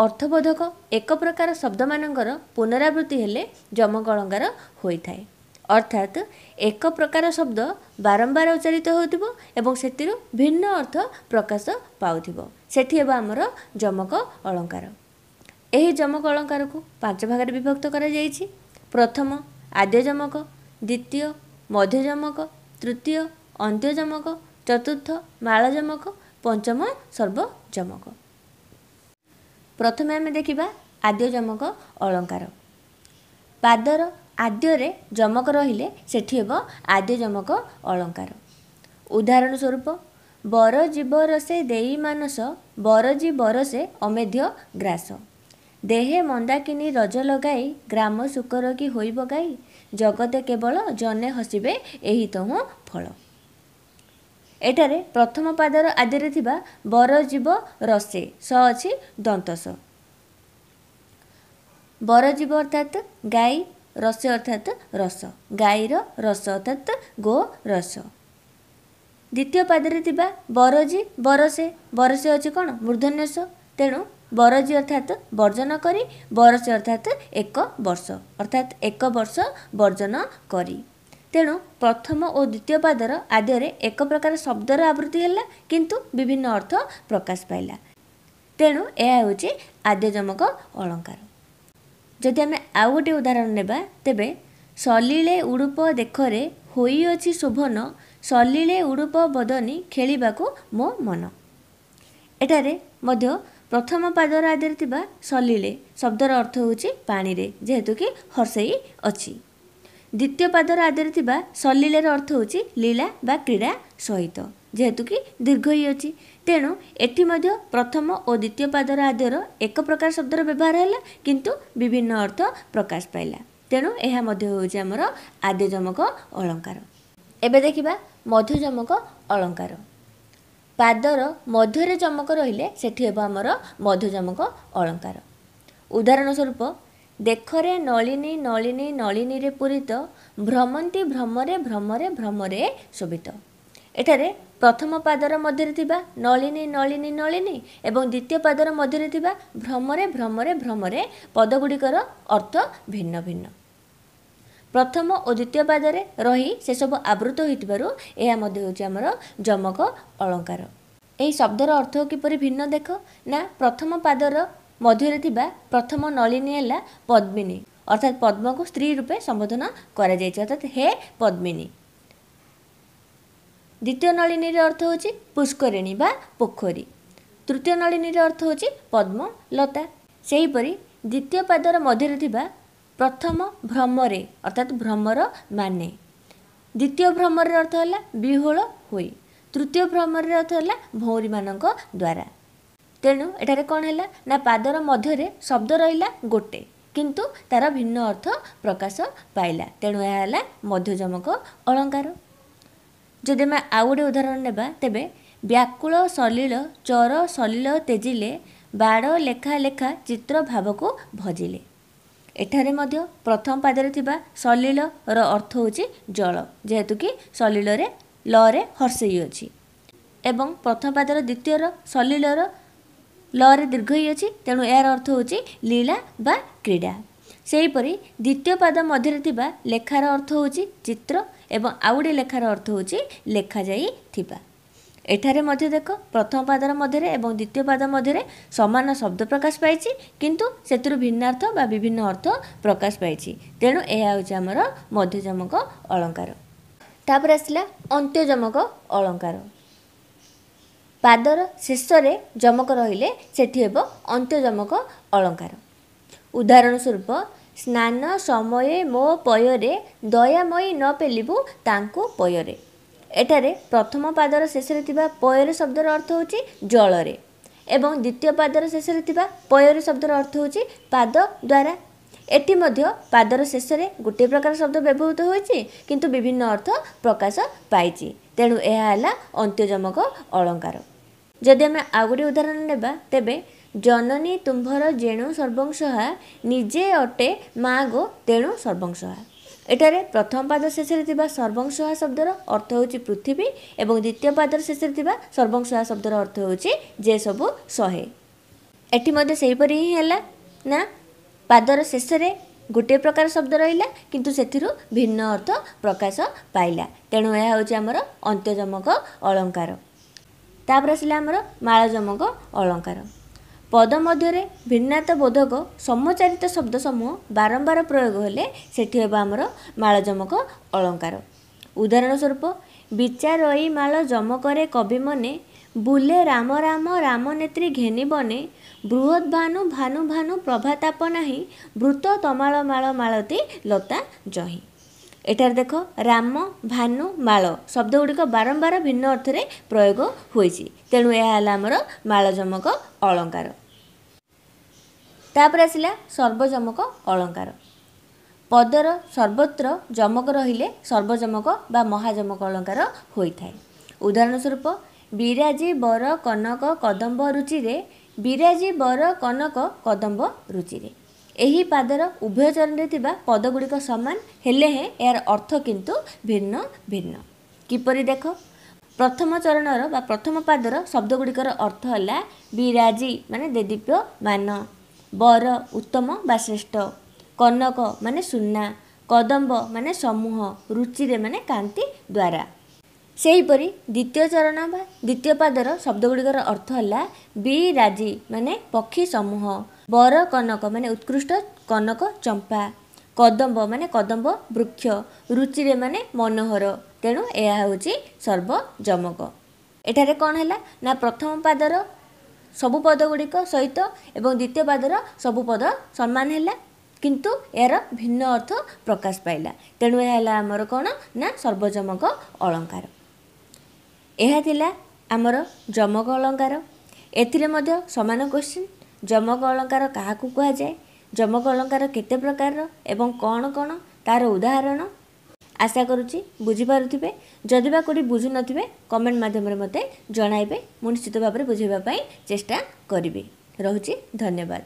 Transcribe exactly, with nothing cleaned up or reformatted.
ଅର୍ଥବୋଧକ ଏକ ପ୍ରକାର ଶବ୍ଦମାନଙ୍କର ପୁନରାବୃତ୍ତି ହେଲେ ଯମକ ଅଳଙ୍କାର ହୋଇଥାଏ। ଅର୍ଥାତ୍ ଏକ ପ୍ରକାର ଶବ୍ଦ ବାରମ୍ବାର ଉଚ୍ଚାରିତ ହେଉଥିବ ଏବଂ ସେଥିରୁ ଭିନ୍ନ ଅର୍ଥ ପ୍ରକାଶ ପାଉଥିବ, ସେଠି ହେବ ଆମର ଯମକ ଅଳଙ୍କାର। ଏହି ଯମକ ଅଳଙ୍କାରକୁ ପାଞ୍ଚ ଭାଗରେ ବିଭକ୍ତ କରାଯାଇଛି। ପ୍ରଥମ ଆଦ୍ୟ ଯମକ, ଦ୍ୱିତୀୟ ମଧ୍ୟ ଯମକ, ତୃତୀୟ ଅନ୍ତ୍ୟ ଯମକ, ଚତୁର୍ଥ ମାଳ ଯମକ, ପଞ୍ଚମ ସର୍ବଯମକ। ପ୍ରଥମେ ଆମେ ଦେଖିବା ଆଦ୍ୟ ଯମକ ଅଳଙ୍କାର। ପାଦର ଆଦ୍ୟରେ ଯମକ ରହିଲେ ସେଠି ହେବ ଆଦ୍ୟ ଯମକ ଅଳଙ୍କାର। ଉଦାହରଣ ସ୍ୱରୂପ, ବର ଜୀବ ରସେ ଦେଇ ମାନସ ବରଜି ବରସେ ଅମେଧ୍ୟ ଗ୍ରାସ, ଦେହେ ମନ୍ଦାକିନୀ ରଜ ଲଗାଇ ଗ୍ରାମ ଶୂକର କି ହୋଇବ ଗାଇ, ଜଗତେ କେବଳ ଜନେ ହସିବେ ଏହି ତହୁଁ ଫଳ। ଏଠାରେ ପ୍ରଥମ ପାଦର ଆଦ୍ୟରେ ଥିବା ବର ଜୀବ ରସେ ସ ଅଛି ଦନ୍ତସ। ବରଜୀବ ଅର୍ଥାତ୍ ଗାଈ, ରସେ ଅର୍ଥାତ୍ ରସ, ଗାଈର ରସ ଅର୍ଥାତ୍ ଗୋ ରସ। ଦ୍ୱିତୀୟ ପାଦରେ ଥିବା ବରଜି ବରସେ, ବରସେ ଅଛି କ'ଣ ମୂର୍ଦ୍ଧନ୍ୟ ସ, ତେଣୁ ବରଜି ଅର୍ଥାତ୍ ବର୍ଜନ କରି, ବରସେ ଅର୍ଥାତ୍ ଏକ ବର୍ଷ, ଅର୍ଥାତ୍ ଏକ ବର୍ଷ ବର୍ଜନ କରି। ତେଣୁ ପ୍ରଥମ ଓ ଦ୍ୱିତୀୟ ପାଦର ଆଦ୍ୟରେ ଏକ ପ୍ରକାର ଶବ୍ଦର ଆବୃତ୍ତି ହେଲା, କିନ୍ତୁ ବିଭିନ୍ନ ଅର୍ଥ ପ୍ରକାଶ ପାଇଲା। ତେଣୁ ଏହା ହେଉଛି ଆଦ୍ୟ ଯମକ ଅଳଙ୍କାର। ଯଦି ଆମେ ଆଉ ଗୋଟିଏ ଉଦାହରଣ ନେବା, ତେବେ ସଲିଳେ ଉଡ଼ୁପ ଦେଖରେ ହୋଇଅଛି ଶୋଭନ, ସଲିଳେ ଉଡ଼ୁପ ବଦନୀ ଖେଳିବାକୁ ମୋ ମନ। ଏଠାରେ ମଧ୍ୟ ପ୍ରଥମ ପାଦର ଆଦ୍ୟରେ ଥିବା ସଲିଳେ ଶବ୍ଦର ଅର୍ଥ ହେଉଛି ପାଣିରେ, ଯେହେତୁ କି ହର୍ଷେଇ ଅଛି। ଦ୍ୱିତୀୟ ପାଦର ଆଦ୍ୟରେ ଥିବା ସଲିଳେର ଅର୍ଥ ହେଉଛି ଲୀଳା ବା କ୍ରୀଡ଼ା ସହିତ, ଯେହେତୁ କି ଦୀର୍ଘଇ ଅଛି। ତେଣୁ ଏଠି ମଧ୍ୟ ପ୍ରଥମ ଓ ଦ୍ୱିତୀୟ ପାଦର ଆଦ୍ୟର ଏକ ପ୍ରକାର ଶବ୍ଦର ବ୍ୟବହାର ହେଲା, କିନ୍ତୁ ବିଭିନ୍ନ ଅର୍ଥ ପ୍ରକାଶ ପାଇଲା। ତେଣୁ ଏହା ମଧ୍ୟ ହେଉଛି ଆମର ଆଦ୍ୟ ଯମକ ଅଳଙ୍କାର। ଏବେ ଦେଖିବା ମଧ୍ୟଯମକ ଅଳଙ୍କାର। ପାଦର ମଧ୍ୟରେ ଯମକ ରହିଲେ ସେଠି ହେବ ଆମର ମଧ୍ୟଯମକ ଅଳଙ୍କାର। ଉଦାହରଣ ସ୍ୱରୂପ, ଦେଖରେ ନଳିନୀ ନଳିନୀ ନଳିନୀରେ ପୂରିତ, ଭ୍ରମନ୍ତି ଭ୍ରମରେ ଭ୍ରମରେ ଭ୍ରମରେ ଶୋଭିତ। ଏଠାରେ ପ୍ରଥମ ପାଦର ମଧ୍ୟରେ ଥିବା ନଳିନୀ ନଳିନୀ ନଳିନୀ ଏବଂ ଦ୍ୱିତୀୟ ପାଦର ମଧ୍ୟରେ ଥିବା ଭ୍ରମରେ ଭ୍ରମରେ ଭ୍ରମରେ ପଦଗୁଡ଼ିକର ଅର୍ଥ ଭିନ୍ନ ଭିନ୍ନ। ପ୍ରଥମ ଓ ଦ୍ୱିତୀୟ ପାଦରେ ରହି ସେସବୁ ଆବୃତ ହୋଇଥିବାରୁ ଏହା ମଧ୍ୟ ହେଉଛି ଆମର ଯମକ ଅଳଙ୍କାର। ଏହି ଶବ୍ଦର ଅର୍ଥ କିପରି ଭିନ୍ନ ଦେଖ ନା, ପ୍ରଥମ ପାଦର ମଧ୍ୟରେ ଥିବା ପ୍ରଥମ ନଳିନୀ ହେଲା ପଦ୍ମିନୀ, ଅର୍ଥାତ୍ ପଦ୍ମକୁ ସ୍ତ୍ରୀ ରୂପେ ସମ୍ବୋଧନ କରାଯାଇଛି, ଅର୍ଥାତ୍ ହେ ପଦ୍ମିନୀ। ଦ୍ୱିତୀୟ ନଳିନୀର ଅର୍ଥ ହେଉଛି ପୁଷ୍କରିଣୀ ବା ପୋଖରୀ। ତୃତୀୟ ନଳିନୀର ଅର୍ଥ ହେଉଛି ପଦ୍ମଲତା। ସେହିପରି ଦ୍ୱିତୀୟ ପାଦର ମଧ୍ୟରେ ଥିବା ପ୍ରଥମ ଭ୍ରମରେ ଅର୍ଥାତ୍ ଭ୍ରମର ମାନେ, ଦ୍ୱିତୀୟ ଭ୍ରମରର ଅର୍ଥ ହେଲା ବିହ୍ୱଳ ହୋଇ, ତୃତୀୟ ଭ୍ରମରର ଅର୍ଥ ହେଲା ଭଉଁରୀମାନଙ୍କ ଦ୍ୱାରା। ତେଣୁ ଏଠାରେ କ'ଣ ହେଲା ନା, ପାଦର ମଧ୍ୟରେ ଶବ୍ଦ ରହିଲା ଗୋଟେ, କିନ୍ତୁ ତାର ଭିନ୍ନ ଅର୍ଥ ପ୍ରକାଶ ପାଇଲା। ତେଣୁ ଏହା ହେଲା ମଧ୍ୟଯମକ ଅଳଙ୍କାର। ଯଦି ଆମେ ଆଉ ଗୋଟେ ଉଦାହରଣ ନେବା, ତେବେ ବ୍ୟାକୁଳ ସଲିଳ ଚର ସଲିଳ ତେଜିଲେ, ବାଡ଼ ଲେଖା ଲେଖା ଚିତ୍ର ଭାବକୁ ଭଜିଲେ। ଏଠାରେ ମଧ୍ୟ ପ୍ରଥମ ପାଦରେ ଥିବା ସଲିଳର ଅର୍ଥ ହେଉଛି ଜଳ, ଯେହେତୁ କି ସଲିଳରେ ଲରେ ହର୍ଷେଇ ଅଛି, ଏବଂ ପ୍ରଥମ ପାଦର ଦ୍ୱିତୀୟର ସଲିଳର ଲରେ ଦୀର୍ଘଇ ଅଛି, ତେଣୁ ଏହାର ଅର୍ଥ ହେଉଛି ଲୀଳା ବା କ୍ରୀଡ଼ା। ସେହିପରି ଦ୍ୱିତୀୟ ପାଦ ମଧ୍ୟରେ ଥିବା ଲେଖାର ଅର୍ଥ ହେଉଛି ଚିତ୍ର ଏବଂ ଆଉ ଗୋଟିଏ ଲେଖାର ଅର୍ଥ ହେଉଛି ଲେଖାଯାଇଥିବା। ଏଠାରେ ମଧ୍ୟ ଦେଖ, ପ୍ରଥମ ପାଦର ମଧ୍ୟରେ ଏବଂ ଦ୍ୱିତୀୟ ପାଦ ମଧ୍ୟରେ ସମାନ ଶବ୍ଦ ପ୍ରକାଶ ପାଇଛି, କିନ୍ତୁ ସେଥିରୁ ଭିନ୍ନାର୍ଥ ବା ବିଭିନ୍ନ ଅର୍ଥ ପ୍ରକାଶ ପାଇଛି। ତେଣୁ ଏହା ହେଉଛି ଆମର ମଧ୍ୟଯମକ ଅଳଙ୍କାର। ତାପରେ ଆସିଲା ଅନ୍ତ୍ୟଯମକ ଅଳଙ୍କାର। ପାଦର ଶେଷରେ ଯମକ ରହିଲେ ସେଠି ହେବ ଅନ୍ତ୍ୟଯମକ ଅଳଙ୍କାର। ଉଦାହରଣ ସ୍ୱରୂପ, ସ୍ନାନ ସମୟେ ମୋ ପୟରେ ଦୟାମୟୀ ନ ପେଲିବୁ ତାଙ୍କୁ ପୟରେ। ଏଠାରେ ପ୍ରଥମ ପାଦର ଶେଷରେ ଥିବା ପୟରେ ଶବ୍ଦର ଅର୍ଥ ହେଉଛି ଜଳରେ ଏବଂ ଦ୍ୱିତୀୟ ପାଦର ଶେଷରେ ଥିବା ପୟରେ ଶବ୍ଦର ଅର୍ଥ ହେଉଛି ପାଦ ଦ୍ୱାରା। ଏଠି ମଧ୍ୟ ପାଦର ଶେଷରେ ଗୋଟିଏ ପ୍ରକାର ଶବ୍ଦ ବ୍ୟବହୃତ ହୋଇଛି, କିନ୍ତୁ ବିଭିନ୍ନ ଅର୍ଥ ପ୍ରକାଶ ପାଇଛି। ତେଣୁ ଏହା ହେଲା ଅନ୍ତ୍ୟଯମକ ଅଳଙ୍କାର। ଯଦି ଆମେ ଆଉ ଗୋଟିଏ ଉଦାହରଣ ନେବା, ତେବେ ଜନନୀ ତୁମ୍ଭର ଯେଣୁ ସର୍ବଂସହା, ନିଜେ ଅଟେ ମା ଗୋ ତେଣୁ ସର୍ବଂସହା। ଏଠାରେ ପ୍ରଥମ ପାଦ ଶେଷରେ ଥିବା ସର୍ବଂସହା ଶବ୍ଦର ଅର୍ଥ ହେଉଛି ପୃଥିବୀ ଏବଂ ଦ୍ୱିତୀୟ ପାଦର ଶେଷରେ ଥିବା ସର୍ବଂସହା ଶବ୍ଦର ଅର୍ଥ ହେଉଛି ଯେ ସବୁ ସହେ। ଏଠି ମଧ୍ୟ ସେହିପରି ହିଁ ହେଲା ନା, ପାଦର ଶେଷରେ ଗୋଟିଏ ପ୍ରକାର ଶବ୍ଦ ରହିଲା କିନ୍ତୁ ସେଥିରୁ ଭିନ୍ନ ଅର୍ଥ ପ୍ରକାଶ ପାଇଲା। ତେଣୁ ଏହା ହେଉଛି ଆମର ଅନ୍ତ୍ୟଯମକ ଅଳଙ୍କାର। ତାପରେ ଆସିଲା ଆମର ମାଳଯମକ ଅଳଙ୍କାର। ପଦ ମଧ୍ୟରେ ଭିନ୍ନାତ ବୋଧକ ସମଚାରିତ ଶବ୍ଦ ସମୂହ ବାରମ୍ବାର ପ୍ରୟୋଗ ହେଲେ ସେଠି ହେବ ଆମର ମାଳଯମକ ଅଳଙ୍କାର। ଉଦାହରଣ ସ୍ୱରୂପ, ବିଚାରଇ ମାଳ ଯମକରେ କବି ମନେ, ବୁଲେ ରାମ ରାମ ରାମ ନେତ୍ରୀ ଘେନି ବନେ, ବୃହଦ୍ ଭାନୁ ଭାନୁ ଭାନୁ ପ୍ରଭାତାପ ନାହିଁ, ବୃତ ତମାଳ ମାଳ ମାଳତୀ ଲତା ଜହିଁ। ଏଠାରେ ଦେଖ, ରାମ, ଭାନୁ, ମାଳ ଶବ୍ଦ ଗୁଡ଼ିକ ବାରମ୍ବାର ଭିନ୍ନ ଅର୍ଥରେ ପ୍ରୟୋଗ ହୋଇଛି। ତେଣୁ ଏହା ହେଲା ଆମର ମାଳଯମକ ଅଳଙ୍କାର। ତାପରେ ଆସିଲା ସର୍ବଯମକ ଅଳଙ୍କାର। ପଦର ସର୍ବତ୍ର ଯମକ ରହିଲେ ସର୍ବଯମକ ବା ମହାଯମକ ଅଳଙ୍କାର ହୋଇଥାଏ। ଉଦାହରଣ ସ୍ୱରୂପ, ବିରାଜି ବର କନକ କଦମ୍ବ ରୁଚିରେ, ବିରାଜି ବର କନକ କଦମ୍ବ ରୁଚିରେ। ଏହି ପାଦର ଉଭୟ ଚରଣରେ ଥିବା ପଦଗୁଡ଼ିକ ସମାନ ହେଲେ ହେଁ ଏହାର ଅର୍ଥ କିନ୍ତୁ ଭିନ୍ନ ଭିନ୍ନ। କିପରି ଦେଖ, ପ୍ରଥମ ଚରଣର ବା ପ୍ରଥମ ପାଦର ଶବ୍ଦଗୁଡ଼ିକର ଅର୍ଥ ହେଲା ବିରାଜି ମାନେ ଦେଦୀପ୍ୟମାନ, ବର ଉତ୍ତମ ବା ଶ୍ରେଷ୍ଠ, କନକ ମାନେ ସୁନା, କଦମ୍ବ ମାନେ ସମୂହ, ରୁଚିରେ ମାନେ କାନ୍ତି ଦ୍ୱାରା। ସେହିପରି ଦ୍ୱିତୀୟ ଚରଣ ବା ଦ୍ୱିତୀୟ ପାଦର ଶବ୍ଦଗୁଡ଼ିକର ଅର୍ଥ ହେଲା ବିରାଜି ମାନେ ପକ୍ଷୀ ସମୂହ, ବର କନକ ମାନେ ଉତ୍କୃଷ୍ଟ କନକ ଚମ୍ପା, କଦମ୍ବ ମାନେ କଦମ୍ବ ବୃକ୍ଷ, ରୁଚିରେ ମାନେ ମନୋହର। ତେଣୁ ଏହା ହେଉଛି ସର୍ବଯମକ। ଏଠାରେ କ'ଣ ହେଲା ନା, ପ୍ରଥମ ପାଦର ସବୁ ପଦ ଗୁଡ଼ିକ ସହିତ ଏବଂ ଦ୍ୱିତୀୟ ପାଦର ସବୁ ପଦ ସମାନ ହେଲା, କିନ୍ତୁ ଏହାର ଭିନ୍ନ ଅର୍ଥ ପ୍ରକାଶ ପାଇଲା। ତେଣୁ ଏହା ହେଲା ଆମର କ'ଣ ନା ସର୍ବଯମକ ଅଳଙ୍କାର। ଏହା ଥିଲା ଆମର ଯମକ ଅଳଙ୍କାର। ଏଥିରେ ମଧ୍ୟ ସମାନ କ୍ୱେଶ୍ଚିନ୍, ଯମକ ଅଳଙ୍କାର କାହାକୁ କୁହାଯାଏ, ଯମକ ଅଳଙ୍କାର କେତେ ପ୍ରକାରର ଏବଂ କ'ଣ କ'ଣ ତା'ର ଉଦାହରଣ। ଆଶା କରୁଛି ବୁଝିପାରୁଥିବେ। ଯଦି ବା କେଉଁଠି ବୁଝୁନଥିବେ କମେଣ୍ଟ ମାଧ୍ୟମରେ ମୋତେ ଜଣାଇବେ, ମୁଁ ନିଶ୍ଚିତ ଭାବରେ ବୁଝାଇବା ପାଇଁ ଚେଷ୍ଟା କରିବି। ରହୁଛି, ଧନ୍ୟବାଦ।